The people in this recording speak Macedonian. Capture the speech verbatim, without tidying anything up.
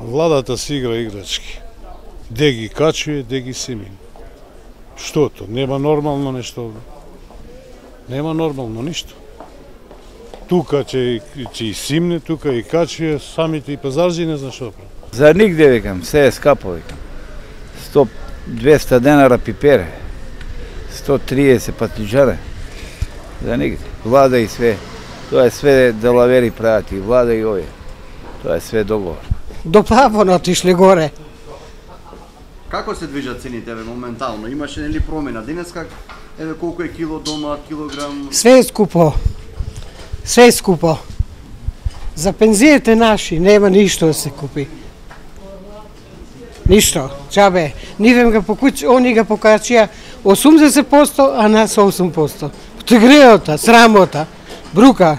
Владата си игра играчки. Де ги качуе, де ги семин. Штото? Нема нормално нешто овде. Нема нормално ништо. Тука ќе ќе и симне, тука и качуе, самите и пазарджи не знам што прави. За нигде викам, се е скапо викам. сто двеста денара пипере, сто триесет патиџаре. За нигде. Влада и све. Тоа е све делавери прават и влада и овие. Тоа е све договор. До плафон отишле горе. Како се движат цените еве моментално? Имаше нели промена? Денеска еве колку е кило дома, килограм? Све е скупо. Све е скупо. За пензиите наши нема ништо да се купи. Ништо. Чабе. Нивем га покуќ, они га покачија осумдесет проценти, а нас осум проценти. Потегреота, срамота, брука.